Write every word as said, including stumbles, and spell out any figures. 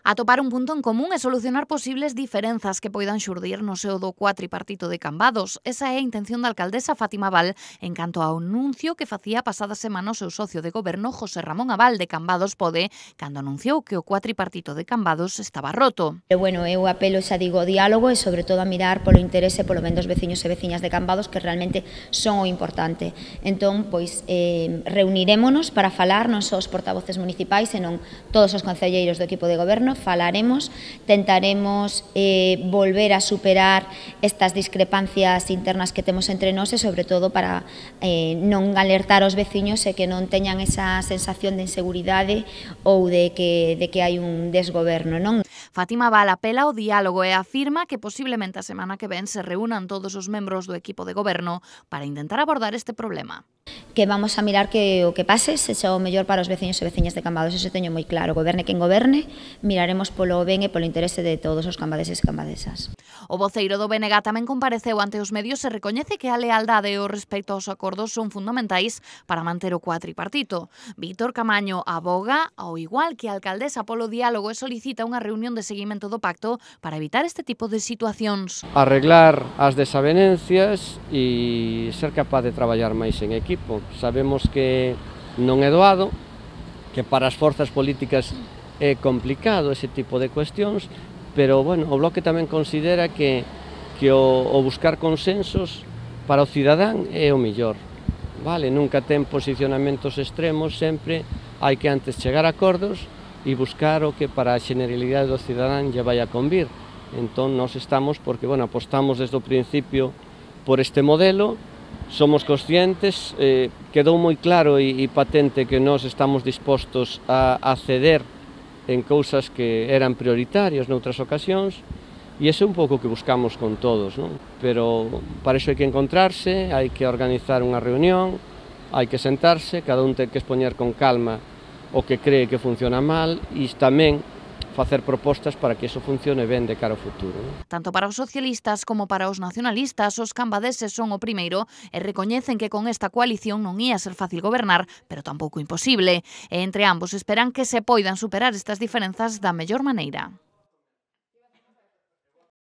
Atopar un punto en común e solucionar posibles diferenzas que poidan xurdir no seo do cuatripartito de Cambados. Esa é a intención da alcaldesa Fátima Val en canto ao anuncio que facía a pasada semana o seu socio de goberno José Ramón Abal de Cambados Pode, cando anunciou que o cuatripartito de Cambados estaba roto. E, bueno, eu apelo, xa digo, ao diálogo e sobre todo a mirar polo interese polo ben dos veciños e veciñas de Cambados, que realmente son o importante. Entón, pois, eh, reunirémonos para falar non só os portavoces municipais, senón todos os concelleiros do equipo de goberno, falaremos, tentaremos eh, volver a superar estas discrepancias internas que temos entre nós e, sobre todo, para eh, non alertar aos veciños e que non teñan esa sensación de inseguridade ou de que, de que hai un desgoberno, non? Fátima Val apela ao diálogo e afirma que posiblemente a semana que ven se reúnan todos os membros do equipo de goberno para intentar abordar este problema. Que vamos a mirar que o que pase sexa o mellor para os veciños e veciñas de Cambados, eso teño moi claro. Goberne quen goberne, miraremos polo ben e polo interese de todos os cambadeses e cambadesas. O voceiro do B N G tamén compareceu ante os medios e recoñece que a lealdade e o respecto aos acordos son fundamentais para manter o cuatripartito. Víctor Camaño aboga, ao igual que a alcaldesa, polo diálogo e solicita unha reunión de seguimento do pacto para evitar este tipo de situacións. Arreglar as desavenencias e ser capaz de traballar máis en equipo. Sabemos que non é doado, que para as forzas políticas é complicado ese tipo de cuestións, pero, bueno, o Bloque tamén considera que, que o, o buscar consensos para o cidadán é o mellor. Vale, nunca ten posicionamentos extremos, sempre hai que antes chegar a acordos e buscar o que para a generalidade do cidadán lle vai a convir. Entón, nós estamos, porque, bueno, apostamos desde o principio por este modelo. Somos conscientes, eh, quedou moi claro e, e patente que nós estamos dispostos a, a ceder en cousas que eran prioritarias noutras ocasións, e ese é un pouco o que buscamos con todos, non? Pero para iso hai que encontrarse, hai que organizar unha reunión, hai que sentarse, cada un ten que expoñer con calma o que cree que funciona mal e tamén facer propostas para que iso funcione ben de cara ao futuro. Tanto para os socialistas como para os nacionalistas, os cambadeses son o primeiro e recoñecen que con esta coalición non ia ser fácil gobernar, pero tampouco imposible. E entre ambos esperan que se poidan superar estas diferenzas da mellor maneira.